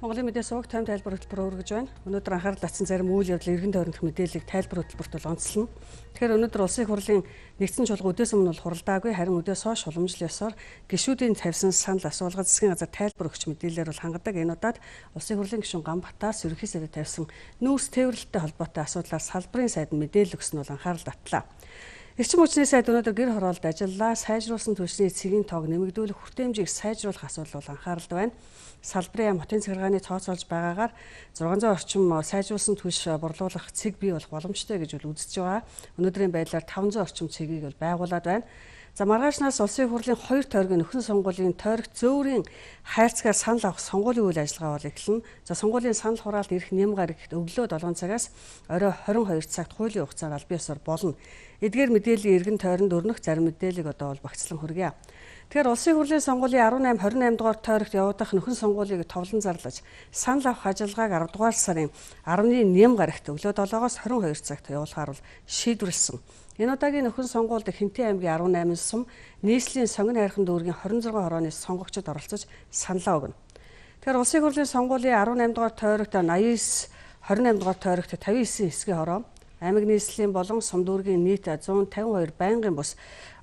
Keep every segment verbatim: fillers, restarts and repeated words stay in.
Монголын мэдээ суваг тайм тайлбар хөтөлбөр өргөж байна. Өнөөдөр анхаарал татсан зарим үйл явдлын эргэн тойрондох мэдээллийг тайлбар хөтөлбөрт бол онцлно. Тэгэхээр өнөөдөр улсын их хурлын нэгдсэн чуулга үдээс өмнө бол хуралдаагүй, харин үдээс хойш уламжлал ёсоор гишүүдийн тавьсан санал асуулга засгийн газар тайлбар өгч мэдээлэлээр бол хангадаг. Энэ удаад улсын их хурлын гишүүн Ганбатаас ерөнхий сайдад тавьсан нүүрс тээвэрлэлтэй холбоотой асуудлаар салбарын сайд нь мэдээлэл өгсөн нь бол анхаарал татлаа. Эрчим хүчний сайд өнөөдөр гэр хороолд ажиллаа, сайжруулсан түвшний эцгийн тоог нэмэгдүүлэх хүртээмжийг сайжруулах асуудал бол анхааралд байна. Салбарын яам хотын захиргааны тооцоолж байгаагаар зургаан зуун орчим сайжруулсан түвш борлуулах цэг бий болох боломжтой гэж бол үзэж байгаа. Өнөөдрийн байдлаар таван зуун орчим цэгийг бол байгуулад байна. За маргаашнаас улсын их хурлын хоёр тойргийн нөхөн сонгуулийн тойрогт зөөврийн хайрцгаар санал авах сонгуулийн үйл ажиллагаа бол эхэлнэ. За сонгуулийн санал хураалт ирэх нэм гарагт өглөө долоон цагаас орой хорин хоёр цагт хуулийн хугацаар албан ёсоор болно. Эдгээр мэдээллийн эргэн тойронд өрнөх зарим мэдээллийг одоо бол багцлан хүргье. Тэгэхээр улсын их хурлын сонгуулийн арван eight twenty eight дугаар тойрогт явагдах нөхөн сонгуулийг товлон зарлаж санал авах ажиллагааг аравдугаар дугаар сарын арваны нэм гарагт өглөө долоогоос хорин хоёр цагт явуулахаар бол шийдвэрлсэн. Энэ удаагийн нөхөн сонгуульд Хинтээ аймгийн арван eight сум, нийслэлийн сонгон хайрхан дүүргийн twenty-six хорооны сонгогчид оролцож саналаа өгнө. Тэгэхээр улсын их хурлын сонгуулийн арван eight дугаар тойрогт ninety-nine twenty-eight дугаар тойрогт fifty-nine хэсгийн хороо, аймаг нийслэлийн болон сум дүүргийн нийт one fifty-two байнгын бус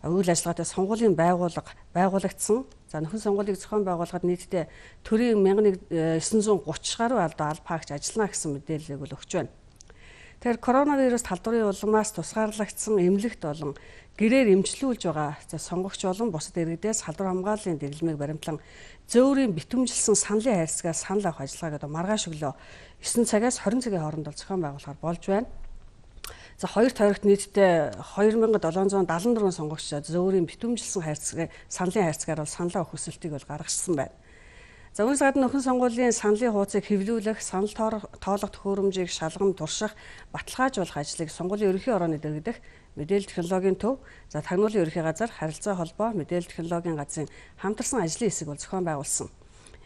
үйл ажиллагаатай сонгуулийн байгууллага байгуулагдсан. За нөхөн сонгуулийг зохион байгуулахад нийтдээ төрийн one thousand nine hundred thirty гаруй албаа алба хаагч ажиллана гэсэн мэдээллийг бол өгч байна. Тэгэхээр коронавирус талдварын улмаас тусгаарлагдсан эмнэлэгт болон гэрээр эмчлүүлж байгаа за сонгогч болон бусад иргэдээс халдвар хамгааллын дэглэмийг баримтлан зөөврийн битүүмжилсэн саналын хайрцагаар санал авах ажиллагааг одоо маргааш өглөө nine цагаас twenty цагийн хооронд бол зохион байгуулахаар болж байна. За хоёр тойрогт нийтдээ two thousand seven hundred seventy-four сонгогч зөөврийн битүүмжилсэн хайрцаг саналын хайрцагаар бол санал авах хүсэлтийг бол гаргасан байна. За үүнээс гадна нөхөн сонгуулийн саналын хуудсыг хэвлүүлэх, санал тоолох төхөөрөмжийг шалган турших, баталгаажуулах ажлыг сонгуулийн ерөнхий орооны дэргэдэх мэдээлэл технологийн төв, за тагнуулын ерөнхий газар, харилцаа холбоо, мэдээлэл технологийн газрын хамтарсан ажлын хэсэг бол зохион байгуулсан.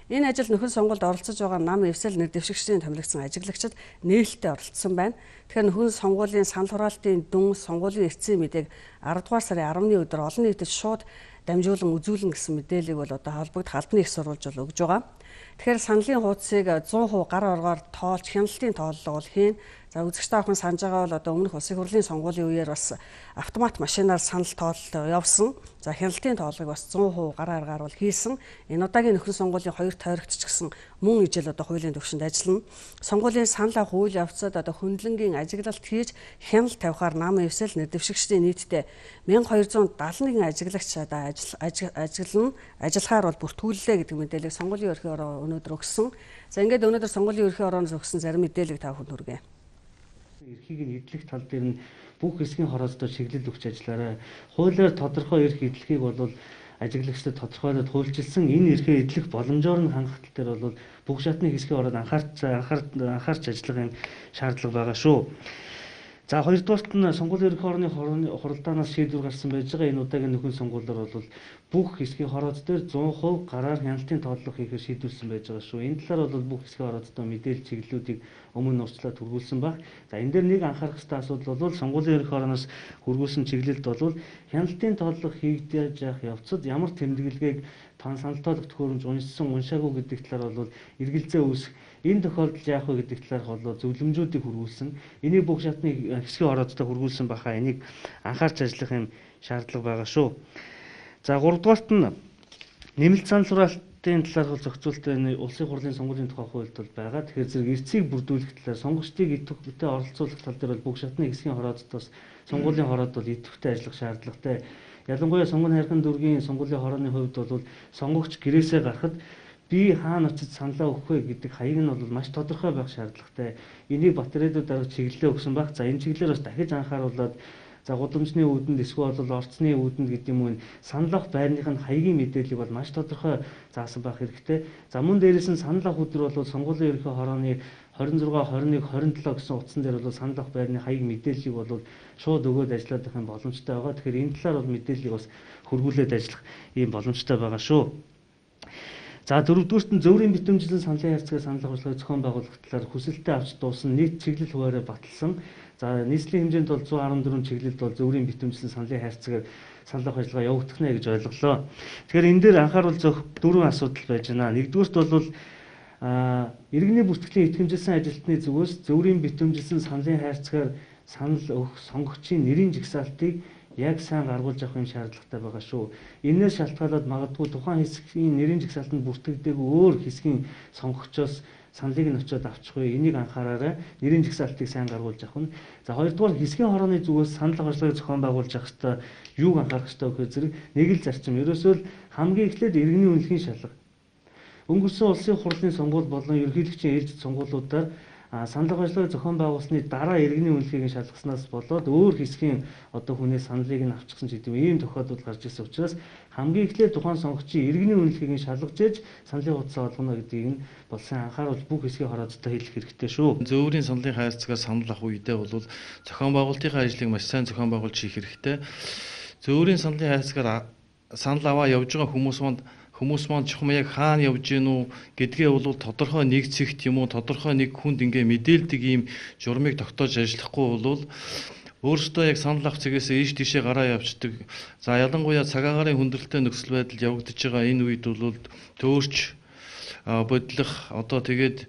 Энэ ажил нөхөн сонгуульд оролцож байгаа нам эвсэл нэр дэвшигчдийн томилогдсон ажиглагчид нээлттэй оролцсон байна. Тэгэхээр нөхөн сонгуулийн санал хураалтын дүн, сонгуулийн эцсийн мэдээг аравдугаар дугаар сарын арваны өдөр олон нийтэд шууд дамжуулан үзүүлнэ гэсэн мэдээллийг бол одоо холбогдох албаны их сурвалж бол өгж байгаа. Тэгэхээр саналын хуудсыг one hundred percent гар оргоор тоолж хяналтын тооллого бол хийн. За үзэгчтэй ахын санаж байгаа бол одоо өмнөх улсын хурлын сонгуулийн үеэр бас автомат машинаар санал тоололт явсан. За хяналтын тооллогыг бас one hundred percent гар аргаар бол хийсэн. Энэ удаагийн нөхөн сонгуулийн хоёр тойрогт ч гэсэн мөн ижил одоо хуулийн төвшөнд ажиллана. Сонгуулийн санал авах үйл явцад одоо хөндлөнгийн ажиглалт хийж хяналт тавихаар нам эвсэл нэр дэвшигчдийн нийтдээ one thousand two hundred seventy-one ажиглагч одоо ажиллана. Ажиллахаар бол бүртгүүллээ гэдэг мэдээллийг сонгуулийн ерөнхий ороо өнөөдөр өгсөн. За ингээд өнөөдөр сонгуулийн ерөнхий орооноос өгсөн зарим мэдээллийг та бүхэнд хүргэе. Эрхийг нь эдлэх тал дээр нь бүх хэсгийн хороолцоо чиглэл өгч ажиллаарай. Хуулиар тодорхой эрх эдлэхийг бол ажиглагчдад тодорхойлоод хуульчилсан энэ эрхээ эдлэх боломжоор нь хангах тал дээр бол бүх шатны хэсгийн ороод анхаарч анхаарч ажиллах юм шаардлага байгаа шүү. За хоёрдугаарт нь сонгуулийн ерөнхий орны хуралдаанаас шийдвэр гарсан байж байгаа энэ удаагийн нөхөн сонгуулиар бол бүх хэсгийн хороод дээр one hundred percent гараар хяналтын тооллого хийхээр шийдвэрлсэн байж байгаа шүү. Энэ талаар бол бүх хэсгийн хороодтой мэдээлэл чиглэлүүдийг өмнө нь урьдчилаад хүргүүлсэн баг. За энэ дээр нэг анхаарах ёстой асуудал бол сонгуулийн ерөнхий орноос хүргүүлсэн чиглэлд бол хяналтын тооллого хийгдэж явах явцад ямар тэмдэглэгийг тань санал тоолох төхөөрөмж уншсан уншаагүй гэдэг талаар бол эргэлзээ үүсэх. Энэ тохиолдолд яах вэ гэдэг талаарх бол зөвлөмжүүдийг хүргүүлсэн. Энийг бүх шатны хэсгийн хороодтой хүргүүлсэн баха. Энийг анхаарч ажиллах юм шаардлага байгаа шүү. За гуравдугаарт нь нэмэлт санал хураалтын талаарх зохицуулалтын улсын хурлын сонгуулийн тухай хуульд бол байгаа. Тэгэхээр зэрэг эрцийг бүрдүүлэх талаар сонгогчдыг идэвхтэй оролцуулах тал дээр бол бүх шатны хэсгийн хороодтоос сонгуулийн хороод бол идэвхтэй ажиллах шаардлагатай. Ялангуяа сонгон хайрхан дүүргийн сонгуулийн хорооны хувьд бол сонгогч гэрээсээ гарахад би хаана очиж саналаа өгөх вэ гэдэг хаяг нь бол маш тодорхой байх шаардлагатай. Энийг батареудаар дарга чиглэлээ өгсөн баг. За энэ чиглэлээр бас дахиж анхааруулад за гудамжны үүдэнд эсвэл орцны үүдэнд гэдэг юм уу санал авах байрных нь хаягийн мэдээллийг бол маш тодорхой заасан байх хэрэгтэй. За мөн дээрээс нь санал авах өдөр бол сонгуулийн ерөнхий хорооны twenty-six, twenty-one, twenty-seven гэсэн утсан дээр бол санал авах байрны хаяг мэдээллийг бол шууд өгөөд ажиллаад байх юм боломжтой байгаа. Тэгэхээр энэ талаар бол мэдээллийг бас хөргүүлээд ажиллах ийм боломжтой байгаа шүү. За дөрөвдүгüүрт нь зөөврийн битүүмжилсэн саналын хайрцагаар санал авах ажиллагааг зохион байгуулах талаар хүсэлтэд авч дуусан нийт чиглэл хуваараа баталсан. За нийслэлийн хэмжээнд бол one hundred fourteen чиглэлд бол зөөврийн битүүмжилсэн саналын хайрцагаар санал авах ажиллагаа явагдах нэ гэж ойлголоо. Тэгэхээр энэ дээр анхааруул зөх дөрвөн асуудал байж байна. Нэгдүгüүрт бол а иргэний бүртгэлийн итгэмжилсэн ажилтны зүгээс зөвөрийн битэмжилсэн саналын хайрцагаар санал өгөх сонгогчийн нэрийн жагсаалтыг яг сайн гаргуулж авах юм шаардлагатай байгаа шүү. Энээс шалтгаалаад магадгүй тухайн хэсгийн нэрийн жагсаалтанд бүртгэгдээгүй өөр хэсгийн сонгогчоос саналыг нь очиод авчихгүй. Энийг анхаараарай. Нэрийн жагсаалтыг сайн гаргуулж авах нь. За хоёрдугаар хэсгийн хорооны зүгээс санал гаргалыг зохион байгуулж авах хэрэгтэй. Юуг анхаарах хэрэгтэй вэ гэхээр зэрэг нэг л зарчим. Ерөөсөө л хамгийн эхлээд иргэний үнэлэхийн шалга. Өнгөрсөн улсын хурлын сонгуул болон ерөнхийлөгчийн ээлжид сонгуулиудаар санал гаргалыг зохион байгуулсны дараа иргэний үнэлгээг нь шалгаснаас болоод өөр хэсгийн одоо хүнээс саналыг нь авчихсан ч гэдэг ийм тохиолдол гарч ирсэн учраас хамгийн эхлээд тухайн сонгогчийн иргэний үнэлгээг нь шалгаж ээж саналын хуудасаа олгоно гэдгийг нь бол сайн анхааруул бүх хэсгийн хороодтой хэлэх хэрэгтэй шүү. Зөвөрийн саналын хайрцагаар санал авах үедээ бол зохион байгуулалтын ажлыг маш сайн зохион байгуулж хийх хэрэгтэй. Зөвөрийн саналын хайрцагаар санал аваа явж байгаа хүмүүс манд хүмүүс маань чухам яг хаана явж гин үү гэдгээ бол тодорхой нэг цэгт юм уу тодорхой нэг хүнд ингээ мэдээлдэг ийм журмыг тогтоож ажиллахгүй бол өөрөөсөө яг санал авах цэгээс ийш тийшээ гараа явцдаг. За ялангуяа цаг агарын хүндрэлтэй нөхцөл байдал явагдаж байгаа энэ үед бол төөрч бодлох одоо тэгээд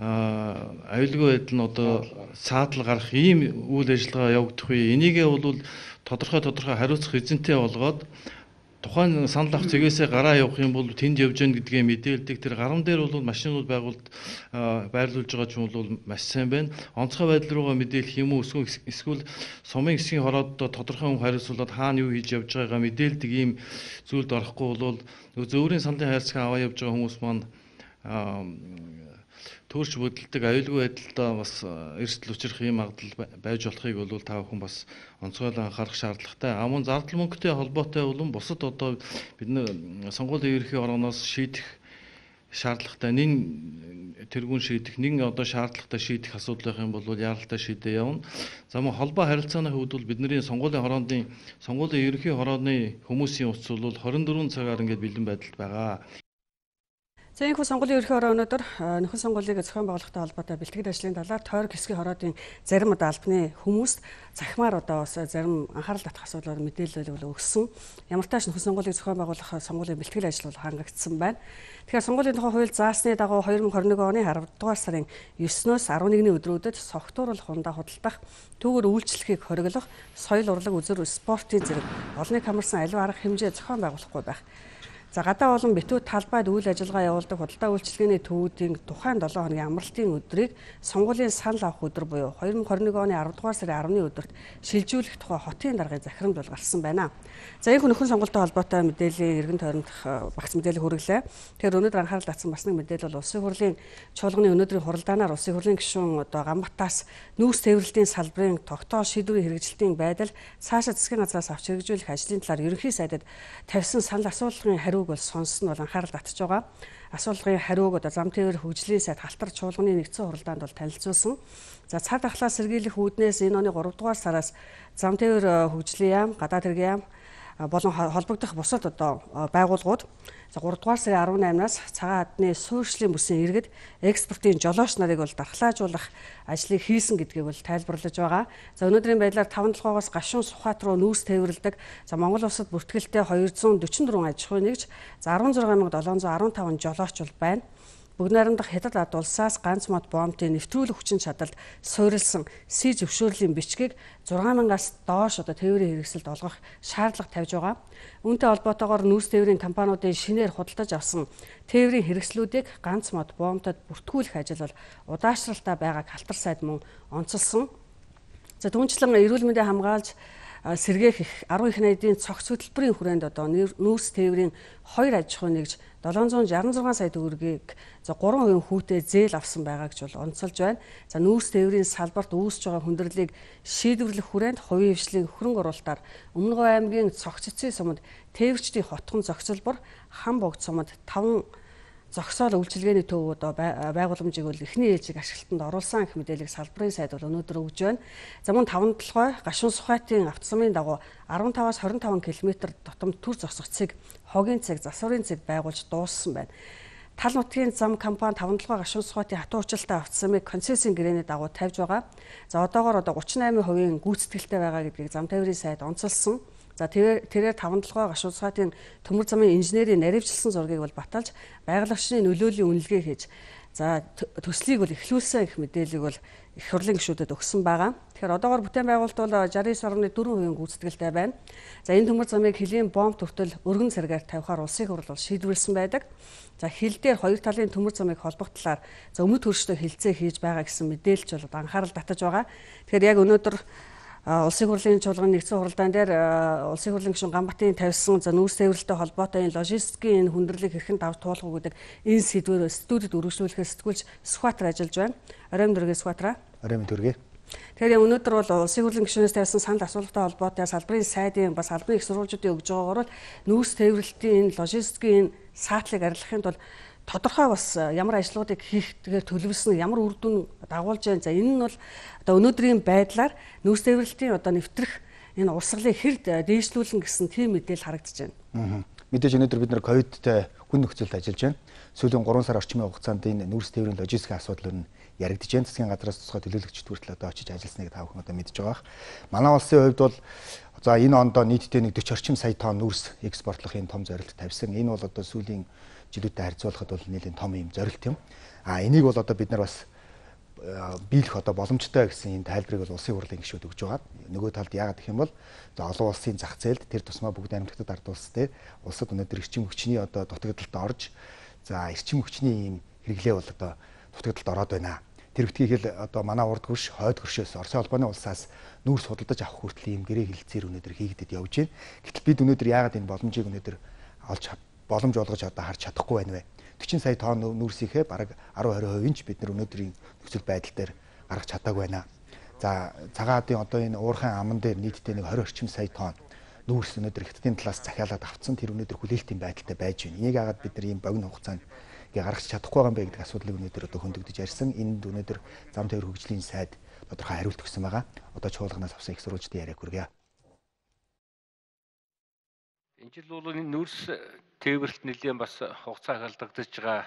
аюулгүй байдал нь одоо саатал гарах ийм үйл ажиллагаа явагдах үе. Энийгээ бол тодорхой тодорхой хариуцах эзэнтэй болгоод тухайн санал авах цэгээсээ гараа явах юм бол тэнд явж гэн гэдгээ мэдээлдэг. Тэр гарам дээр бол машинууд байгуулд байрлуулж байгаа ч юм бол маш сайн байна. Онцгой байдал руугаа мэдээлэх юм уу эсвэл сумын хэсгийн хорооддоо тодорхой хүн хариуцуулаад хаана юу хийж явж байгаагаа мэдээлдэг ийм зүйлд орохгүй бол зөвөрийн саналын хайрцаг аваа явж байгаа хүмүүс маань төөрч бодлдог аюулгүй байдалтай бас эрсдэл учрах юм магадлал байж болохыг бол та бүхэн бас онцгойлон анхаарах шаардлагатай. А мөн зардал мөнгөтэй холбоотой болон бусад одоо бидний сонгуулийн ерөнхий орооноос шийдэх шаардлагатай нэг тэргүүн шийдэх нэг одоо шаардлагатай шийдэх асуудал байх юм бол яаралтай шийдээ явна. За мөн холбоо харилцааны хувьд бол бидний сонгуулийн хорооны сонгуулийн ерөнхий хорооны хүмүүсийн утас бол хорин дөрвөн цагаар ингээд бэлэн байдалд байгаа. За энэ сонгуулийн ерөнхий хороо өнөөдөр нөхөн сонгуулийг зохион байгуулалттай холбоотой бэлтгэл ажлын талаар тойрог хэсгийн хороодын зарим одоо албаны хүмүүст захимаар одоо бас зарим анхаарал татах асуудлаар мэдээлэл өгсөн. Ямар ч тааш нөхөн сонгуулийг зохион байгуулах сонгуулийн бэлтгэл ажил бол хангагдсан байна. Тэгэхээр сонгуулийн тухай хууль заасны дагуу хоёр мың хорин нэг оны аравдугаар дугаар сарын есөөс арван нэгний өдрүүдэд согтууруулах хундаа худалдах, түүгээр үйлчлэхийг хориглох, соёл урлаг үзэр спортын зэрэг олныг хамарсан аливаа арга хэмжээ зохион байгуулахгүй байх. За гадаа болон битүү талбайд үйл ажиллагаа явуулдаг худалдаа үйлчилгээний төвүүдийн тухайн долоо хоногийн амралтын өдрийг сонгуулийн санал авах өдөр буюу хоёр мың хорин нэг оны аравдугаар сарын арваны өдөрт шилжүүлэх тухай хотын даргын захирамж бол гарсан байна. За энэ нөхөн сонгуультай холбоотой мэдээллийн эргэн тойронд багц мэдээлэл хүргэлээ. Тэгэхээр өнөөдөр анхаарал татсан бас нэг мэдээлэл бол улсын хурлын чуулганы өнөөдрийн хуралдаанаар улсын хурлын гишүүн одоо Гамбатаас нүүрс тээвэрлэлийн салбарын тогтоол шийдвэрийн хэрэгжилтийн байдал цаашаа засгийн газраас авч хэрэгжүүлэх ажлын талаар ерөнхий сайдад тавьсан санал асуулгын хариу бол сонсон бол анхаарал татж байгаа. Асуулгын хариуг одоо зам тээвэр хөгжлийн сайд Халтар чуулганы нэгдсэн хуралдаанд бол танилцуулсан. За цар тахлаа сэргийлэх үүднээс энэ оны гуравдугаар сараас зам тээвэр хөгжлийн яам, гадаад хэргийн яам болон холбогдох бусад одоо байгууллагууд за гуравдугаар сарын арван наймнаас цагаан адны суурьшлийн бүсийн иргэд экспортын жолооч нарыг бол дархлаажуулах ажлыг хийсэн гэдгийг бол тайлбарлаж байгаа. За өнөөдрийн байдлаар таван толгоогоос гашуун Сухбаат руу нүүрс тээвэрлдэг. За Монгол улсад бүртгэлтэй хоёрдугаар зуун дөрвөн дөрвөн аж ахуйн нэгж, за арван зургаан мянга долоон зуун арван таван жолооч бол байна. Бүгд найрамдах хятад ард улсаас ганц мод бомбын нэвтрүүлэх хүчин чадалд суурилсан С зөвшөөрлийн бичгийг зургаан мянгаас доош одоо тээврийн хэрэгсэлд олгох шаардлага тавьж байгаа. Үүнтэй холбоотойгоор нүүрс тээврийн компаниудын шинээр худалдаж авсан тээврийн хэрэгслүүдийг ганц мод бомбтод бүртгүүлэх ажил бол удаашралтай байгааг Халтар сайд мөн онцолсон. За түүнчлэн эрүүл мэндийн хамгаалж сэргээх их арван их найдын цогц хөтөлбөрийн хүрээнд одоо нүүрс тээврийн хоёр аж ахуйн нэгж долоон зуун шарсан зургаан сая төгрөгийг за гурван хувийн хүүтэй зээл авсан байгааг ч бол онцолж байна. За нүүрс тээврийн салбарт үүсэж байгаа хүндрэлийг шийдвэрлэх хүрээнд хувийн хвшлийн хөрөнгө оруулалтаар Өмнөговь аймгийн цогц эцсийн суманд тээвэрчдийн хотхон зохицолбор хам богд суманд таван зогсоол үйлчилгээний төв одоо байгууламжийг бол эхний ээлжийг ашиглалтанд оруулсан гэх мэдээллийг салбарын сайд бол өнөөдөр өгж байна. За мөн таван толгой гашуун Сухбаатын автосумын дагуу арван таваас хорин таван километр дотомд түр зогсох цэг, хогийн цэг, засварын цэг байгуулж дууссан байна. Тал нутгийн зам компани таван толгой гашуун Сухбаатын хатуу учиртай автосумыг концессийн гэрээний дагуу тавьж байгаа. За одоогоор одоо гучин восемь хувийн гүйцэтгэлтэй байгаа гэдгийг зам тээврийн сайд онцолсон. За тэрээр таван толгой гашуун Сухбаатын төмөр замын инженерийн наривчлсан зургийг бол баталж байгаль орчны нөлөөллийн үнэлгээ хийж За төслийг бол эхлүүлсэн гэх мэдээллийг бол их хурлын гишүүдэд өгсөн байгаа. Тэгэхээр одоогоор бүтээн байгуулалт бол шестьдесят девять дасмал четыре хувийн гүйцэтгэлтэй байна. За энэ төмөр замыг хилийн бомб хүртэл өргөн цэргээр тавихаар улсын хурл бол шийдвэрлсэн байдаг. За хил дээр хоёр талын төмөр замыг холбох талаар за өмнөд хөршдөө хилцээ хийж байгаа гэсэн мэдээлж бол анхаарал татаж байгаа. Тэгэхээр яг өнөөдөр улсын хурлын чуулганы нэгдсэн хуралдаан дээр улсын хурлын гишүүн Ганбатын тавьсан за нүүрс тээвэрлэлтэй холбоотой энэ логистикийн энэ хүндрэлийг хэрхэн давж туулах уу гэдэг энэ сэдвээр студид үргэлжлүүлэхээр сэтгүүлч Сүхбаатар ажиллаж байна. Оройн дөрөгийн Сүхбаатар. Оройн дөрөгийн. Тэгэхээр өнөөдөр бол улсын хурлын гишүүнээс тавьсан санал асуулттай холбоотой салбарын сайдын бас албан их сурвалжуудын өгж байгаагаар бол нүүрс тээвэрлэлтийн энэ логистикийн энэ саатлыг арилгахын тулд тодорхой бас ямар ажлуудыг хийх тэгэхээр төлөвлөсөн ямар үр дүн дагуулж байна. За энэ нь бол одоо өнөөдрийн байдлаар нүүрс тээвэрлэлтийн одоо нэвтрэх энэ урсгалыг хэрд дээшлүүлэн гэсэн тийм мэдээлэл харагдаж байна. Мэдээж өнөөдөр бид нар ковидтэй хүн нөхцөлд ажиллаж байна. Сүүлийн гурван сар орчмын хугацаанд энэ нүүрс тээврийн логистикийн асуудал нь яригдж байна. Засгийн газраас тусгай төлөөлөгчд хүртэл одоо очиж ажилласныг та бүхэн одоо мэдж байгаа. Манай улсын хувьд бол за энэ ондоо нийтдээ нэг сорок орчим сая тонн нүүрс экспортлох энэ том зорилт тавьсан. Энэ бол одоо сүүлийн жилүүтэй харьцуулахад бол нэлээд том юм зорилт юм. А энийг бол одоо бид нар бас биелэх одоо боломжтой гэсэн энэ тайлбарыг бол улсын хурлын гишүүд өгж байгаа. Нөгөө талд яагаад гэх юм бол за олон улсын зах зээлд тэр тусмаа бүгд амьтгад ард улс дээр улсад өнөөдөр эрчим хүчний одоо дутагдалд орж за эрчим хүчний ийм хэрэглээ бол одоо дутагдалд ороод байна. Тэр битгий хэл одоо манай урд хөрш хойд хөршөөс Оросын холбооны улсаас нүүрс худалдаж авах хүртэл ийм гэрээ хилцээр өнөөдөр хийгдэд явж байна. Гэтэл бид өнөөдөр яагаад энэ боломжийг өнөөдөр олж боломж олгож одоо харж чадахгүй байна вэ? сорок сая тонн нүүрсийнхээ бараг десять двадцать хувийн ч бид нар өнөөдрийн нөхцөл байдал дээр гаргаж чадаагүй байна. За цагаадын одоо энэ уурхайн аман дээр нийтдээ нэг двадцать орчим сая тонн нүүрс өнөөдөр хятадын талаас захиалаад авцсан тэр өнөөдөр хүлээлтийн байдалтай байж байна. Энийг яагаад бид нар ийм богино хугацаанд гаргаж чадахгүй байгаа юм бэ гэдэг асуудлыг өнөөдөр одоо хөндөгдөж ярьсан. Энд өнөөдөр зам тээвэр хөгжлийн сайд тодорхой хариулт өгсөн байгаа. Одоо чуулганаас авсан их сурвалжтай яриаг хүргье. Энэ жил бол энэ нүүрс тээвэрлэлт нэлээд бас хугацаа халдагдаж байгаа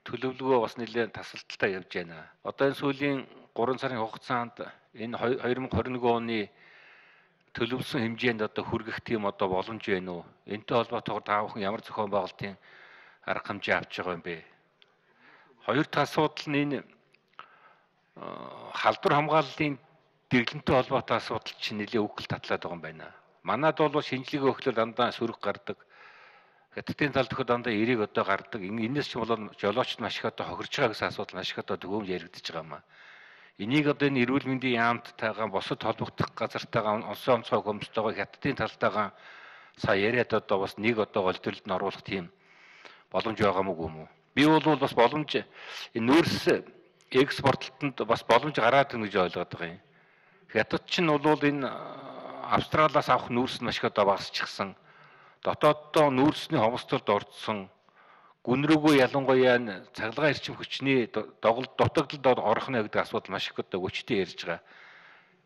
төлөвлөгөө бас нэлээд тасалдaltaй явж байна. Одоо энэ сүүлийн гурван сарын хугацаанд энэ две тысячи двадцать one оны төлөвлөсөн хэмжээнд одоо хүргэх тийм одоо боломж байна уу? Энтэй холбоотойгоор та бүхэн ямар зохион байгуулалтын арга хэмжээ авч байгаа юм бэ? Хоёр дахь асуудал нь энэ халдвар хамгааллын дэглэмтэй холбоотой асуудал чинь нэлээд үхэл татлаад байгаа юм байна. Манайд бол шинжилгээ өгөхлөөр дандаа сөрөг гардаг. Хятадын талд өгөхөд дандаа эерэг одоо гардаг. Энээс ч болоод жолоочд маш их одоо хохирж байгаа гэсэн асуудал маш их одоо төгөөмж яригдчихэж байгаа юм аа. Энийг одоо энэ эрүүл мэндийн яамттайгаа босод холбогдох газартайгаа онцгой онцгой хөмстойгоо хятадын талтайгаа сая яриад одоо бас нэг одоо голдролд нь оруулах тийм боломж байгаа мүү юм уу? Би бол бас боломж энэ нүүрс экспортлолтод бас боломж гараад ирнэ гэж ойлгоод байгаа юм. Хятад ч нь бол энэ Австралиас авах нүүрс нь маш их одоо багасчихсан. Дотооддоо нүүрсний хомсдолд орцсон. Гүн рүүгөө ялангуяа цахилгаан эрчим хүчний доголд дутагдалд орох нэ гэдэг асуудал маш их одоо өчтөө ярьж байгаа.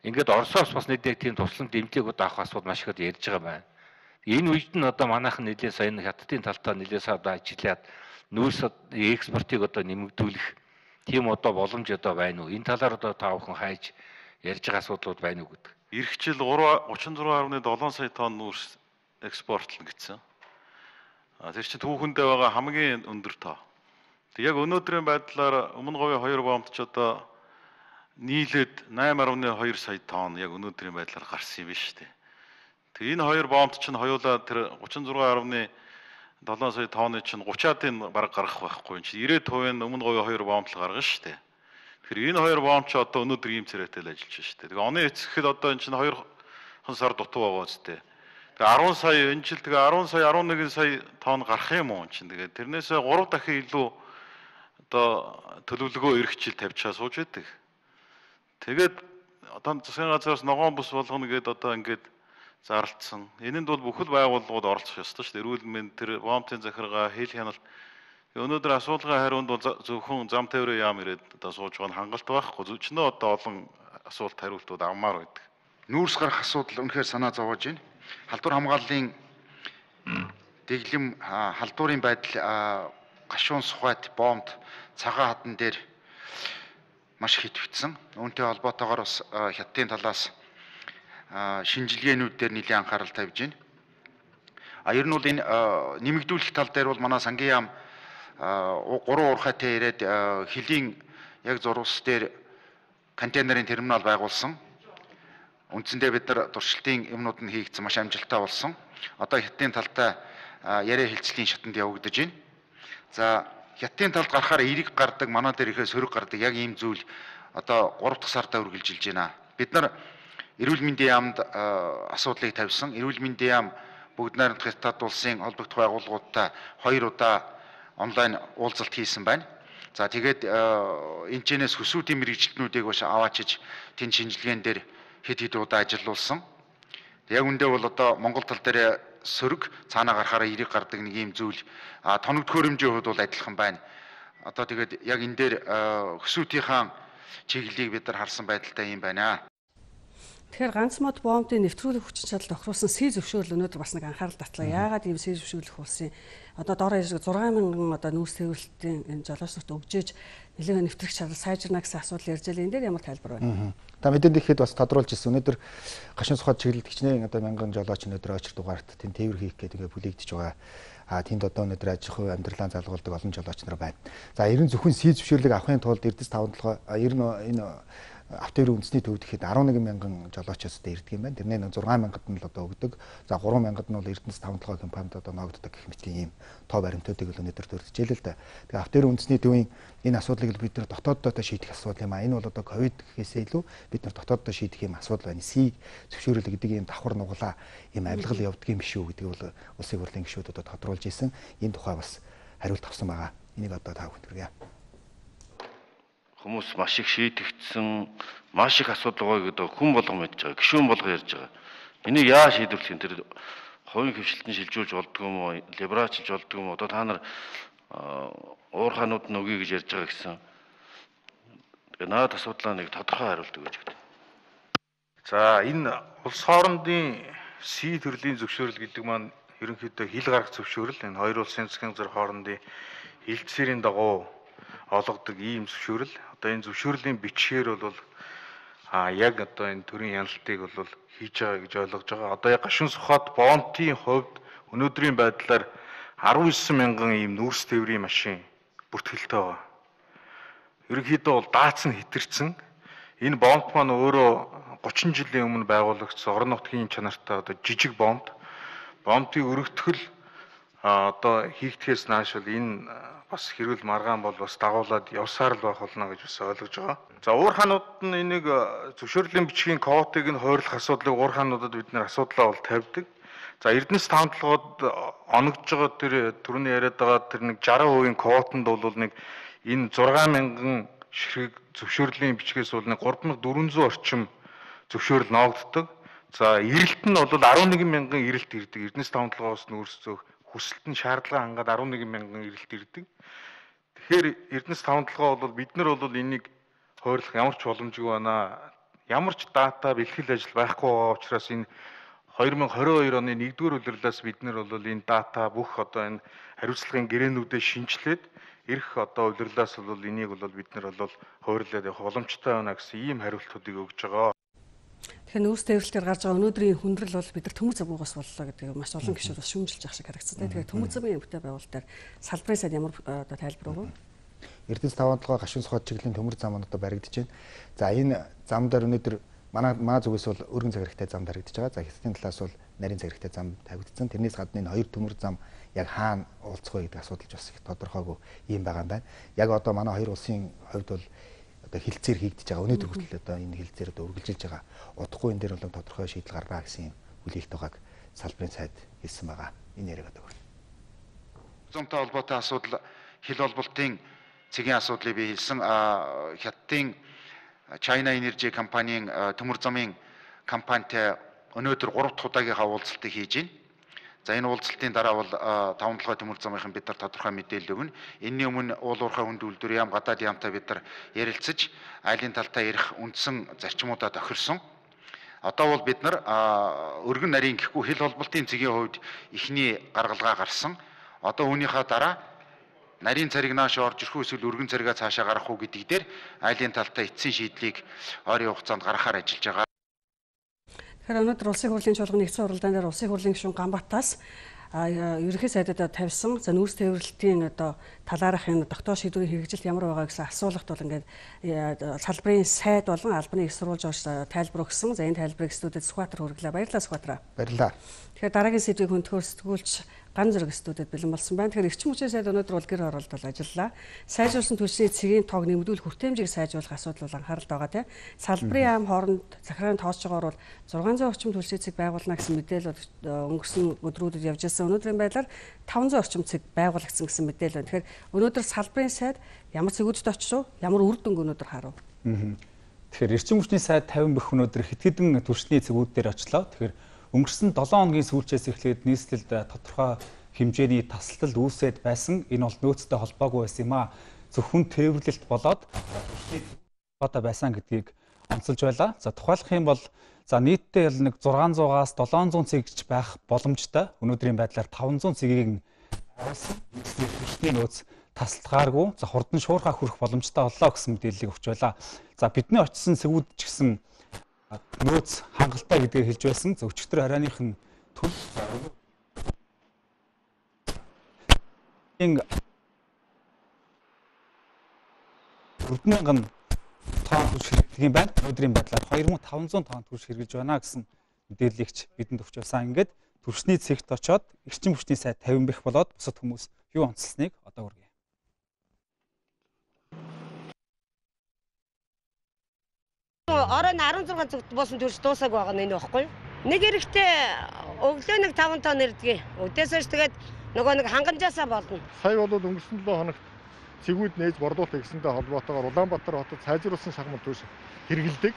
Ингээд Оросоос бас нэг тийм туслан дэмжлэг одоо авах асуудал маш их ярьж байгаа байна. Энэ үед нь одоо манайхан нэлээд сайн хятадын талтаа нэлээд сайн одоо ажиллаад нүүрс экспортыг одоо нэмэгдүүлэх тийм одоо боломж одоо байна уу? Энэ талаар одоо та бүхэн хайж ярьж байгаа асуудлууд байна уу гэдэг. Ирэх жил тридцать четыре дасмал seven сая тонн нүүрс экспортлно гэсэн. Тэр чинь түүхэндээ байгаа хамгийн өндөр тоо. Тэг яг өнөөдрийн байдлаар өмнө говийн хоёр бомбт ч одоо нийлээд нine дасмал two сая тонн яг өнөөдрийн байдлаар гарсан юм биш үү? Тэг энэ хоёр бомбт чинь хоёулаа тэр тридцать six dасмал seven сая тонны чинь thirty-аад баг гарах байхгүй. Чи ninety percent нь өмнө говийн хоёр бомбт л гаргана шүү дээ. Тэгэхээр энэ хоёр бомб ч одоо өнөөдөр ийм царайтай л ажиллаж шүү дээ. Тэгээ оны эцэхэд одоо энэ чинь two сар дутуу байгаа үстэй. Тэгээ ten сая энэ жил тэгээ ten сая eleven сая тонн гарах юм уу чинь. Тэгээ тэрнээсээ three дахин илүү одоо төлөвлөгөө ирэх жил тавьчаа сууж байдаг. Тэгээд одоо засгийн газраас ногоон бус болгоно гэдээ одоо ингээд зарлцсан. Энэнд бол бүхэл байгууллагууд оролцох ёстой шүү дээ. Эрүүл мэнд тэр бомбын захиргаа, хэл хяналт. Өнөөдөр асуулгын хариунд бол зөвхөн зам тээврийн яам ирээд одоо сууж байгаа нь хангалт байхгүй. Зөвчнөө одоо олон асуулт хариултууд авмаар байдаг. Нүүрс гарах асуудал үнэхээр санаа зовоож байна. Халдвар хамгааллын дэглэм халдварын байдал гашуун сухайт бомбд цагаан хадан дээр маш их идэвхжсэн. Үүнтэй холбоотойгоор бас хятадын талаас шинжилгээнүүд дээр нэлийн анхаарал тавьж байна. А ер нь бол энэ нэмэгдүүлэх тал дээр бол манай сангийн яам гурван уурхайтай ирээд хилийн яг зурвас дээр контейнерын терминал байгуулсан. Үндсэндээ бид нар туршилтын юмнууд нь хийгдсэн маш амжилттай болсон. Одоо хятадын талтай яриа хэлцлийн шатанд явагдаж байна. За хятадын талд гарахаар эрэг гардаг, манай дээр ихээ сөрөг гардаг яг ийм зүйл одоо гурав дахь сартаа үргэлжилж байна. Бид нар эрүүл мэндийн яамд асуудлыг тавьсан. Эрүүл мэндийн яам бүгд найрамдах хятад улсын холбогдох байгууллагуудтай хоёр удаа онлайн уулзалт хийсэн байна. За тэгээд энэ чэнэс хөсвүүдийн мэрэгчлэнүүдийг бас аваачиж тэн шинжилгээнд дээр хэд хэд удаа ажиллуулсан. Яг үндэ бол одоо Монгол тал дээр сөрөг цаанаа гарахаараа эрэг гардаг нэг ийм зүйл тоног төхөөрөмжийн хувьд бол адилхан байна. Одоо тэгээд яг энэ дээр хөсвүүдийнхаа чиглэлийг бид нар харсан байдалтай юм байна. Тэгэхээр ганц мод бомбын нэвтрүүлэх хүчин чадал тохируулсан сий зөвшөөрөл өнөөдөр бас нэг анхаарал татлаа. Яагаад ийм сий зөвшөөрлөх болсон юм? Одоо доор ярьж зургаан мянган одоо нүүрс тээвэрлэлтийн энэ жолоочнорт өгжээж нэлээд нэвтрэх чадал сайжирна гэсэн асуудал ярьж байлаа. Энэ дээр ямар тайлбар байна? Та мэдээнд ихэд бас тодруулж ирсэн. Өнөөдөр гашуун сухад чиглэлд хичнээн одоо мянган жолооч өнөөдөр очир дугаарт тэнд тээвэр хийх гэдэг бүлэгдэж байгаа. А тэнд одоо өнөөдөр аж ахуй амьдралаа залгуулдаг олон жолооч нар байна. За ер нь зөвхөн сий зөвшөөрлийг авахын тулд Эрдэс таван толгой ер нь энэ автоэрийн үндэсний төвд ихэд арван нэгэн мянган жолоочоос дээр ирдэг юм байна. Тэрний зургаан мянгад нь л одоо өгдөг. За гурван мянгад нь бол Эрдэнэс таван толгой компанид одоо ногддог гэх мэт ийм тоо баримтуудыг л өнөөдөр төрөлжүүлээ л да. Тэгээ автоэрийн үндэсний төвийн энэ асуудлыг бид нар дотооддоо шийдэх асуудал юм а. Энэ бол одоо ковид гэхээсээ илүү бид нар дотооддоо шийдэх юм асуудал байна. Сийг зөвшөөрөл гэдэг ийм давхар нуглаа ийм авилгал явдаг юм биш үү гэдэг бол улсын хурлын гишүүд одоо тодруулж ирсэн. Энэ тухай бас хариулт авсан байгаа. Энийг одоо та бүхэнд хүргье. Хүмүүс маш их шийдэгдсэн, маш их асуудал байгаа гэдэг хүн болгон мэдж байгаа, гишүүн болго ярьж байгаа. Энийг яа шийдвэрлэх юм тэр хувийн хөвшлөлтөнд шилжүүлж болдго юм уу, либералчилж болдго юм уу? Одоо та нар уурхаанууд нь өгье гэж ярьж байгаа гэсэн. Тэгээ наад асуудлаа нэг тодорхой хариулт өгөөж гэдэг. За энэ улс хоорондын сий төрлийн зөвшөөрөл гэдэг маань ерөнхийдөө хил гарах зөвшөөрөл. Энэ хоёр улсын засгийн газар хоорондын хэлтсэрийн дагуу олгодог ийм зөвшөөрөл. Одоо энэ зөвшөөрлийн бичгээр бол а яг одоо энэ төрлийн яналтыг бол хийж байгаа гэж ойлгож байгаа. Одоо яг гашуун сухад бомтын хувьд өнөөдрийн байдлаар арван девять мянган ийм нүүрс тээврийн машин бүртгэлтэй байгаа. Ерөнхийдөө бол даацсан хэтэрсэн. Энэ бомт маань өөрөө гучин жилийн өмнө байгуулагдсан орон нутгийн чанартай одоо жижиг бомт. Бомтын өргөтгөл одоо хийгдэхээс нааш бол энэ бас хэрүүл маргаан бол бас дагуулад явсаар л байх болно гэж бас ойлгож байгаа. За уурхаанууд нь энийг зөвшөөрлийн бичгийн квотыг нь хойрлох асуудлыг уурхаануудад бид нэр асуудлаа бол тавьдаг. За Эрдэнэс таван толгойд оногдож байгаа тэр түрүүний яриад байгаа тэр нэг сixty percent квотонд бол нэг энэ зургаан мянган ширхэг зөвшөөрлийн бичгээс бол нэг three thousand four hundred орчим зөвшөөрөл ноогддог. За эрэлт нь бол eleven мянган эрэлт ирдэг. Эрдэнэс таван толгоос нүүрсөх хүсэлт нь шаардлага хангаад eleven мянган эрэлт ирдэг. Тэгэхээр Эрдэнэс таван толгой бол бид нар бол энийг хойрлох ямар ч боломжгүй байна. Ямар ч дата бэлтгэл ажил байхгүй байгаа учраас энэ twenty twenty-two оны нэгдүгээр улирлаас бид нар бол энэ дата бүх одоо энэ хариуцлагын гэрээнүүдэд шинжилээд ирэх одоо улирлаас бол энийг бол бид нар бол хойрлоод явах боломжтой байна гэсэн ийм хариултуудыг өгж байгаа. Тэгэхээр нүүрс тээвэрлэлээр гарч байгаа өнөөдрийн хүндрэл бол бид нар төмөр замгаас боллоо гэдэг маш олон гишүүд бас шүүмжилж байгаа шиг харагдсан. Тэгэхээр төмөр замын эмгтэй байгуулалтаар салбарын сайд ямар одоо тайлбар өгөө? Эрдэнэс таван толгой гашуун сухад чиглэлийн төмөр зам одоо баригдаж байна. За энэ зам дээр өнөөдөр манай манай зүгээс бол өргөн цаг хэрэгтэй зам баригдаж байгаа. За хятадын талаас бол нарийн цаг хэрэгтэй зам тавигдсан. Тэрнээс гадна энэ хоёр төмөр зам яг хаана уулзах вэ гэдэг асуудал бас их тодорхойгүй юм байгаа юм байна. Яг одоо манай хоёр улсын хувьд бол одоо хилцээр хийгдэж байгаа. Өнөөдөр хүртэл одоо энэ хилцээр одоо үргэлжилж байгаа. Удахгүй энэ дээр бол тодорхой шийдэл гаргана гэсэн хүлээлт байгааг салбарын сайд хэлсэн байгаа. Энэ яриаг одоо хүрнэ. Зонтой холбоотой асуудал хил холболтын цэгийн асуудлыг би хэлсэн. Хятадын China Energy компанийн төмөр замын компанитай өнөөдөр гурав дахь удаагийнхаа уулзалтыг хийж байна. За энэ уулзалтын дараа бол таван толгой төмөр замынхан бид нар тодорхой мэдээлэл өгнө. Энэний өмнө уул уурхай хүнд үйлдвэр яам гадаад яамтай бид нар ярилцаж айлын талдаа ярих үндсэн зарчмуудаа тохирсон. Одоо бол бид нар өргөн нарийн гэхгүй хил холболтын цэгийн хувьд ихний гаргалгаа гарсан. Одоо үүнийхээ дараа нарийн цариг нааш орж ирэх үү эсвэл өргөн царигаа цаашаа гаргах уу гэдэг дээр айлын талтай эцсийн шийдлийг ойрын хугацаанд гаргахаар ажиллаж байгаа. Тэгэхээр өнөөдөр улсын хурлын чуулганы нэгдсэн уралдаан дээр улсын хурлын гишүүн Ганбатаас ерөнхий сайдад тавьсан за нүүрс тээвэрлэлтийн одоо талаарх энэ тогтоох шийдвэрийн хэрэгжилт ямар байгаа гэсэн асуулгад бол ингээд салбарын сайд болон албаны их сурвалж орж тайлбар өгсөн. За энэ тайлбарыг студид Сүхбаатар хүргэлээ. Баярлалаа Сүхбаатар. Баярлалаа. Тэгэхээр дараагийн сэдвийг хөндлөхөөр сэтгүүлч Ган зэрэг студид бэлэн болсон байна. Тэгэхээр эрчим хүчний сайд өнөөдөр бол гэр оролдол ажиллалаа. Сайжруулсан түлшний цэгийн тоог нэмэгдүүлэх хүртээмжийг сайжруулах асуудал бол анхаарал байгаа тийм. Салбарын ам хооронд захиргааны тооцож байгаагаар бол зургаан зуун орчим түлшний цэг байгуулна гэсэн мэдээлэл өнгөрсөн өдрүүдэд явж ирсэн. Өнөөдрийн байдлаар таван зуун орчим цэг байгуулагдсан гэсэн мэдээлэл байна. Тэгэхээр өнөөдөр салбарын сайд ямар цэгүүдэд очив, ямар үр дүнг өнөөдөр харав? Тэгэхээр эрчим хүчний сайд тавин бэх өнөөдөр хэд хэдэн түлшний цэгүүд дээр очлоо. Тэгэхээр өнгөрсөн долоон хоногийн сүүлчээс эхлээд нийслэлд тодорхой хэмжээний тасалдал үүсээд байсан. Энэ бол нөөцтэй холбоогүй байсан юм а. Зөвхөн тээвэрлэлт болоод түлшний одоо байсан гэдгийг онцолж байлаа. За тухайлах юм бол за нийтдээ нэг зургаан зуугаас долоон зуун цэгч байх боломжтой. Өнөөдрийн байдлаар таван зуун цэгийг харуулсан. Түлшний нөөц тасалдгааргүй за хурдан шуурхаа хүрэх боломжтой боллоо гэсэн мэдээллийг өгч байлаа. За бидний очсон цэгүүд ч гэсэн нөөц хангалттай гэдгийг хэлж байсан. За өчигдөр оройных нь төл ин дөрвөн мянган тонн түлш хэрэглэдэг юм байна. Өнөөдрийн байдлаар хоёр мың таван зуун тонн түлш хэрэглэж байна гэсэн мэдээллийг бидэнд өгч байсан. Ингээд түлшний цэгт очоод эрчим хүчний сайд тавин бэх болоод бусад хүмүүс юу онцлсныг одоо үргэлж оройн арван зургаан цэгт буусан түлш дуусааг байгаа нь энэ баггүй. Нэг эрэхтэй өглөө нэг таван тонн ирдэг. Өдөөс хойш тэгээд нөгөө нэг хангамжаасаа болно. Сая бол өнгөрсөн долоо хоногт цэгүүд нээж борлуулах гэсэнтэй холбоотойгоор Улаанбаатар хотод сайжруулсан шахмат түлш хэрэгэлдэг.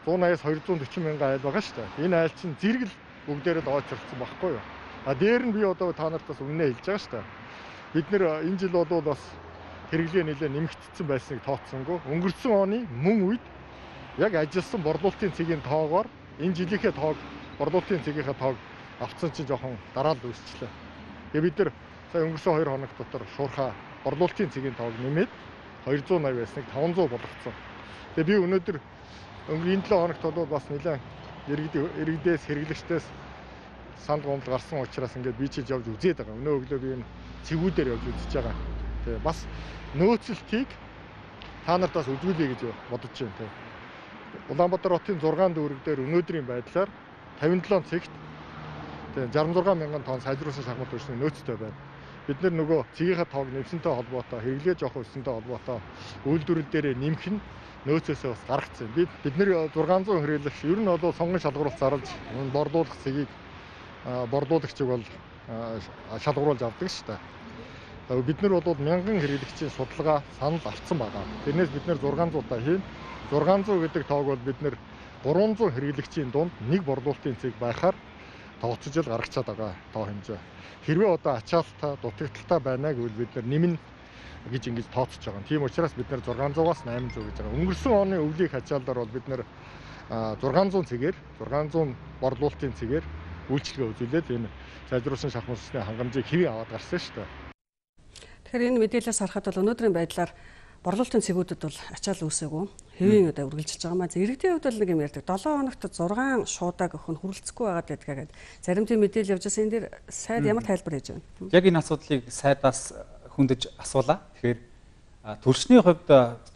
зуун аяас хоёр зуун дөрвөн мянган айл байгаа шүү дээ. Энэ айл чинь зэрэг л бүгдээрээ дооцолцсон байхгүй юу? А дээр нь би одоо та нартаас өмнө хэлж байгаа шүү дээ. Бид нэр энэ жил бол бас хэрэглээ нэлээд нэмэгдсэн байсныг тооцсонгүй. Өнгөрсөн оны мөн үед яг ажилласан борлуулалтын цэгийн тоогоор энэ жилийнхээ тоог борлуулалтын цэгийнхээ тоог авцсан чинь жоохон дараалал үүсчлээ. Тэгээ бид нар сая өнгөрсөн хоёр хоног дотор шуурхаа борлуулалтын цэгийн тоог нэмээд хоёр зуун найман байсныг таван зуун болгоцсон. Тэгээ би өнөөдөр өнгөрсөн энэ долоо хоногт бол бас нэлээд иргэдээс хэрэглэгчдээс санд гомдол гарсан учраас ингээд би чиж явж үзээд байгаа. Өнөө өглөө би энэ цэгүүдээр явж үзэж байгаа. Тэгээ бас нөөцлөлтийг та нарт бас үзүүлье гэж бодож байна. Улаанбаатар хотын зургаан дүүрэг дээр өнөөдрийн байдлаар тавин долоо цэгт жарган зургаан мянган тонн сайжруулсан шахмат түлшний нөөцтэй байна. Бид нар нөгөө цэгийнхаа тоог нэмсэнтэй холбоотой, хэрэглээ жоох өсөнтэй холбоотой үйлдвэрлэл дээр нэмэх нь нөөцөөсөө бас гаргацсан. Бид бид нар зургаан зуун хэрэглэгч ер нь бол сонгон шалгуулалт зарлж борлуулах цэгийг борлуулагчийг бол шалгуулж авдаг шүү дээ. Бид нар бол мянган хэрэглэгчийн судалгаа санал авсан байгаа. Тэрнээс бид нар зургаан зуутаа хийн. зургаан зуун гэдэг тоог бол бид нар гурван зуун хэрэглэгчийн дунд нэг борлуулалтын цэг байхаар тооцож л гаргачаад байгаа тоо хэмжээ. Хэрвээ одоо ачаалтаа, дутагдaltaа байна гэвэл бид нар нэмнэ гэж ингэж тооцож байгаа. Тийм учраас бид нар зургаан зуугаас найман зуун гэж байгаа. Өнгөрсөн оны өвлийг хачаалдаар бол бид нар зургаан зуун цэгээр, зургаан зуун борлуулалтын цэгээр үйлчлэгээ үзүүлээд энэ сайжруулсан шахмат түлшний хангамжийг хэвэн аваад гарсан шүү дээ. Тэгэхээр энэ мэдээлэлээс харахад бол өнөөдрийн байдлаар борлуулалтын цэгүүдэд бол ачаал үүсээгүй. Хэвийн одоо үргэлжилж байгаа маа. Иргэдийн хувьд бол нэг юм ярьдаг. долоон хоногт зургаан шуудаг өхөн хүрэлцэхгүй байгаад байдгаа гэдэг. Зарим тийм мэдээлэл явж байгаа. Энэ дээр сайд ямар тайлбар хийж байна? Яг энэ асуудлыг сайдаас хөндөж асуулаа. Тэгэхээр түлшний хувьд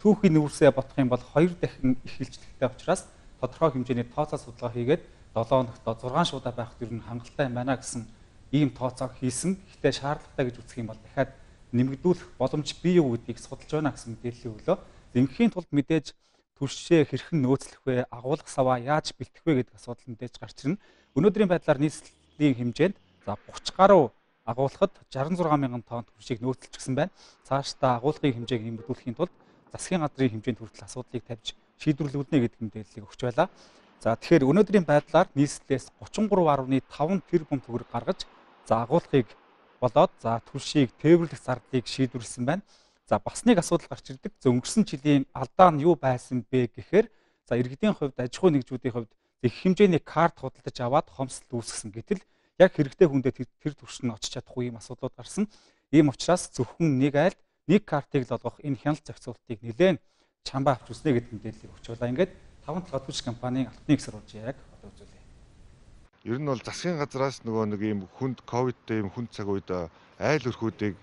түүхийн нүүрсээ бодох юм бол хоёр дахин их хилжлэгтэй учраас тодорхой хэмжээний тооцоо судалгаа хийгээд долоон хоногт зургаан шуудаа байхад ер нь хангалттай юм байна гэсэн ийм тооцоог хийсэн. Гэхдээ шаардлагатай гэж үзэх юм бол дахиад нэмэгдүүлэх боломж бий юу гэдгийг судалж байна гэсэн мэдээллийн өглөө. Эмхэхийн тулд мэдээж түлшээ хэрхэн нөөцлөх вэ, агуулгах саваа яаж бэлтэх вэ гэдэг асуудал мэдээж гарч ирнэ. Өнөөдрийн байдлаар нийслэлийн хэмжээнд за гурван гаруй агуулгад шестьдесят шесть мянган тонн түлшийг нөөцлөжсөн байна. Цаашдаа агуулгын хэмжээг нэмэгдүүлэхийн тулд засгийн газрын хэмжээнд хүртэл асуудлыг тавьж шийдвэрлэгдэнэ гэдэг мэдээллийг өгч байлаа. За тэгэхээр өнөөдрийн байдлаар нийслэлээс гучин гурван гаруй таван тэрбум төгрөг гаргаж за агуулгыг болоод за түлшийг тээвэрлэх зардлыг шийдвэрлсэн байна. За бас нэг асуудал гарч ирдэг. Өнгөрсөн жилийн алдаа нь юу байсан бэ гэхээр за иргэдийн хувьд аж ахуй нэгжүүдийн хувьд их хэмжээний карт худалдаж аваад хомсдол үүсгэсэн. Гэтэл яг хэрэгтэй хүндээ тэр түвш нь очиж чадахгүй юм асуудлууд гарсан. Ийм учраас зөвхөн нэг айлд нэг картыг л олгох энэ хяналт зохицуултыг нэлээд чамбаа авч үснэ гэдэг мэдээллийг өгч байлаа. Ингээд таван талаа түвш компанийн алтны их сурвалж яг одоо үзүүлээ. ер нь бол засгийн газраас нөгөө нэг ийм хүнд ковидтэй ийм хүнд цаг үед айл өрхүүдийг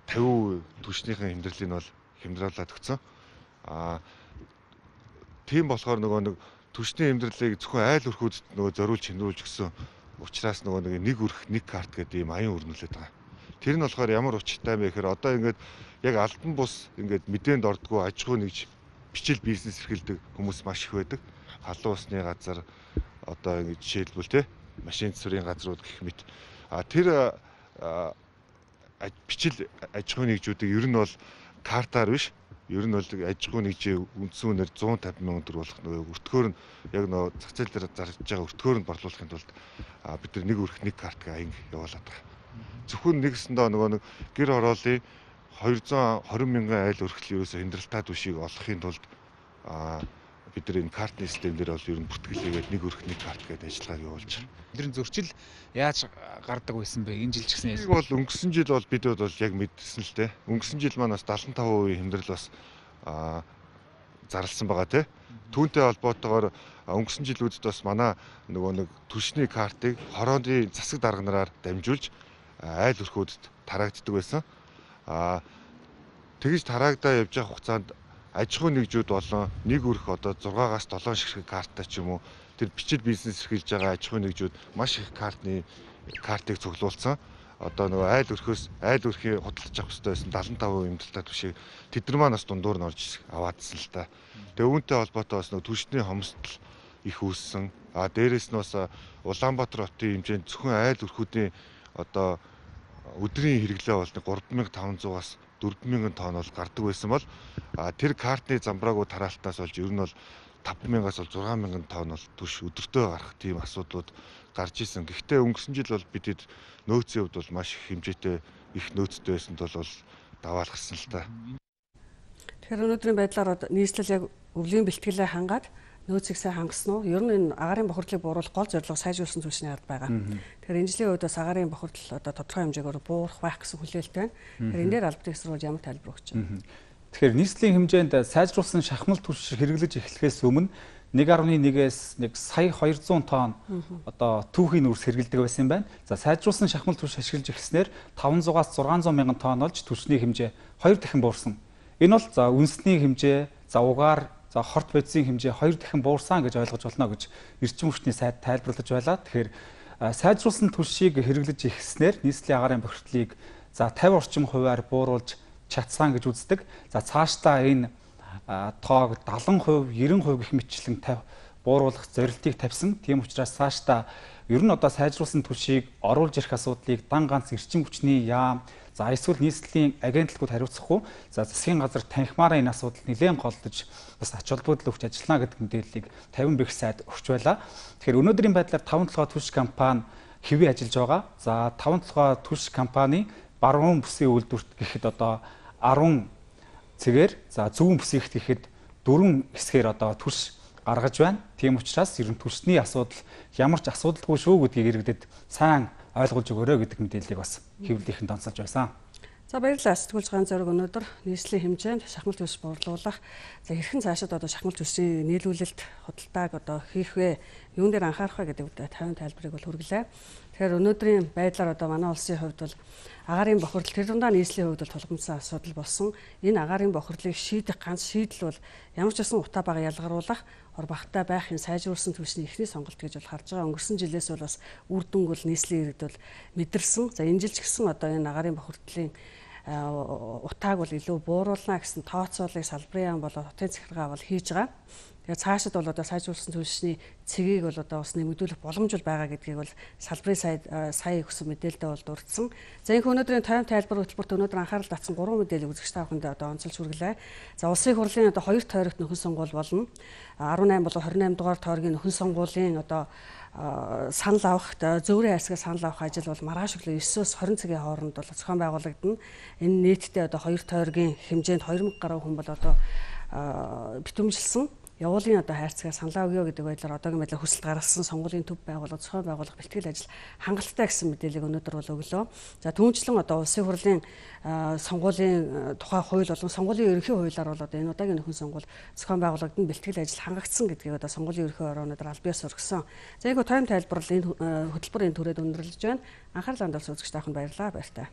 тавин хувь түвшнийхэн хэмнэрлийг бол хямдруулаад өгсөн. Аа тийм болохоор нөгөө нэг түвшний хэмнэрлийг зөвхөн айл өрхүүдэд нөгөө зориулж хэмнүүлж өгсөн учраас нөгөө нэг нэг өрх нэг карт гэдэг ийм аян өрнүүлээд байгаа. Тэр нь болохоор ямар учиртай юм бэ гэхээр одоо ингээд яг албан бус ингээд мэдээнд ордгоо аж ахуй нэгж бичил бизнес эрхэлдэг хүмүүс маш их байдаг. Халуун усны газар одоо ингээд жишээлбэл те машин цэврийн газрууд гэх мэт. А тэр бичил аж ахуй нэгжүүдийг ер нь бол картаар биш, ер нь бол аж ахуй нэгжийн үндсэн үнээр зуун тавин мянган төгрөг болох нөгөө өртгөөр нь яг нөгөө зах зээл дээр зарж байгаа өртгөөр нь борлуулахын тулд бид нар нэг өрх нэг карт гээ анги явуулаад байгаа. Зөвхөн нэгсэндээ нөгөө нэг гэр хорооллын двести тwenty мянган айл өрхөл ерөөсө хямдралтай түвшийг олохын тулд бид нар энэ картны систем дээр бол ер нь бүртгэлээгээд нэг өрх нэг карт гэдэг ажиллагааг явуулж байгаа. Эдгээр зөрчил яаж гардаг байсан бэ? Энэ жил ч гэсэн яг бол өнгөрсөн жил бол бид бол яг мэдсэн л дээ. Өнгөрсөн жил маань бас seventy-five percent хямдрал бас зарласан байгаа тий. Түүнтэй холбоотойгоор өнгөрсөн жилүүдэд бас манай нөгөө нэг түвшний картыг хорооны засаг дарга нараар дамжуулж айл өрхүүдэд тараагддаг байсан. Аа тэгж тараагдаа явж байгаа хугацаанд аж ахуй нэгжүүд болон нэг өрх одоо six-аас seven ширхэг карттай ч юм уу тэр бичил бизнес эрхэлж байгаа аж ахуй нэгжүүд маш их картны картыг цуглуулсан. Одоо нөгөө айл өрхөөс айл өрхийн худалдаж авах хэрэгтэй байсан seventy-five percent хэмдэлтэй түвшийг тэд нар маань бас дундуур нь орж аваадсан л та. Тэгээ үүнтэй холбоотой бас нөгөө түвшний хомсдол их үүссэн. А дээрээс нь бас Улаанбаатар хотын хэмжээнд зөвхөн айл өрхүүдийн одоо өдрийн хэрэглээ бол three thousand five hundred-аас four thousand тонн бол гардаг байсан бол тэр картны замбраагүй тараалтаас болж ер нь бол five thousand-аас бол six thousand тонн бол түвш өдөртөө гарах тийм асуудлууд гарч исэн. Гэхдээ өнгөрсөн жил бол бидэд нөөцийн хувьд бол маш их хэмжээтэй их нөөцтэй байсанд бол даваалгасан л та. Тэгэхээр өнөөдрийн байдлаар нийслэл яг өвлийн бэлтгэлээ хангаад нөөцийг сайн хангасан уу? Ер нь энэ агаарын бохирдлыг бууруулах гол зорилго сайжруулсан түвшний ард байгаа. Тэгэхээр энэ жилийн үед бас агаарын бохирдол одоо тодорхой хэмжээгээр буурах байх гэсэн хүлээлттэй байна. Тэгэхээр энэ дээр албан ёс руу ямар тайлбар өгч байна? Тэгэхээр нийслэлийн хэмжээнд сайжруулсан шахмал түвш хэрэглэж эхлэхээс өмнө one point one-ээс нэг сая two hundred тонн одоо түүхийн үрс хэрэглэдэг байсан юм байна. За сайжруулсан шахмал түвш ашиглаж эхлэснээр five hundred-аас six hundred мянган тонн болж түвшний хэмжээ two дахин буурсан. Энэ бол за үндэсний хэмжээ, за угаар, за хорт бодисын хэмжээ two дахин буурсан гэж ойлгож болно гэж эрчим хүчний сайд тайлбарлаж байлаа. Тэгэхээр сайжруулсан түвшийг хэрэглэж эхэлснээр нийслэлийн агаарын бохирдлыг за fifty орчим хувиар бууруулж чадсан гэж үздэг. За цаашдаа энэ тоог seventy percent, ninety percent гэх мэтчлэн бууруулах зорилтыг тавьсан. Тийм учраас цаашдаа ер нь одоо сайжруулсан түвшийг оруулж ирэх асуудлыг дан ганц эрчим хүчний яам, за эсвэл нийслэлийн агентлагууд хариуцахгүй, за засгийн газар танхимаараа энэ асуудалд нэлээд голдож бас ач холбогдол өгч ажиллана гэдэг мэдээллийг fifty бэх сайд өгч байлаа. Тэгэхээр өнөөдрийн байдлаар five толгой түвш компани хэвээ ажиллаж байгаа. За five толгой түвш компани баруун бүсийн үйлдвэрт гэхэд одоо ten цэгээр, за зүүн бүсийгт гэхэд four хэсгээр одоо түвш гаргаж байна. Тийм учраас ер нь түвшний асуудал ямар ч асуудалгүй шүү гэдгийг иргэдэд сайн ойлгуулж өгөөрэй гэдэг мэдээллийг бас хэвлэлийнхэн онцолж байсан. За баярлалаа. Сэтгүүлч ганц зориг өнөөдөр нийслэлийн хэмжээнд шахмал түвш бууруулах, за хэрхэн цаашид одоо шахмал түвшийн нийлүүлэлт худалдааг одоо хийх вэ? Юун дээр анхаарах вэ гэдэг тавин тайлбарыг бол хүргэлээ. Тэгэхээр өнөөдрийн байдлаар одоо манай улсын хувьд бол агаарын бохирдол тэр дундаа нийслэлийн хувьд бол тулгамдсан асуудал болсон. Энэ агаарын бохирдлыг шийдэх ганц шийдэл бол ямар ч байсан утаа бага ялгаруулах, ор багтаа байхын сайжруулсан түвшний эхний сонголт гэж бол харж байгаа. Өнгөрсөн жилээс бол бас үр дүнг бол нийслэлийн иргэд бол мэдэрсэн. За энэ жил ч гэсэн одоо энэ агаарын бохирдлын утааг бол илүү бууруулна гэсэн тооцоолыг салбарын яам болоод хотын захиргаа бол хийж байгаа. Тэгээ цаашид бол одоо сайжруулсан түвшний цэгийг бол одоо бас нэмэгдүүлэх боломж байгаа гэдгийг бол салбарын сая сая өгсөн мэдээлэлд бол дурдсан. За энэ өнөөдрийн тавин тайлбар хөтөлбөрт өнөөдөр анхаарал татсан гурван мэдээлэл үзэгч та бүхэнд одоо онцолж хүргэлээ. За улсын хурлын одоо хоёр тойрогт нөхөн сонгуул болно. eighteen болон twenty-eight дугаар тойргийн нөхөн сонгуулийн одоо санал авах зөөврийн хайрцагаас санал авах ажил бол маргааш өглөө nine-өөс twenty цагийн хооронд бол зохион байгуулагдана. Энэ нийтдээ одоо хоёр тойргийн хэмжээнд two thousand гаруй хүн бол одоо битүүмжилсэн. явуулын одоо хайрцагаар саналаа өгөө гэдэг байдлаар одоогийн байдлаар хүсэлт гаргасан сонгуулийн төв байгууллага, зохион байгуулах бэлтгэл ажил хангалттай гэсэн мэдээллийг өнөөдөр бол өглөө. За түүнчлэн одоо улсын хурлын сонгуулийн тухай хууль болон сонгуулийн ерөнхий хуулиар бол одоо энэ удаагийн нөхөн сонгуул зохион байгуулагдсан бэлтгэл ажил хангагдсан гэдгийг одоо сонгуулийн ерөнхий орон өнөөдөр аль биес өргөсөн. За энэ тойм тайлбарлал энэ хөтөлбөрийн түрээд өндөрлөж байна. Анхаарал хандуулсан үзэгч тааханд баярлалаа. Баяртай.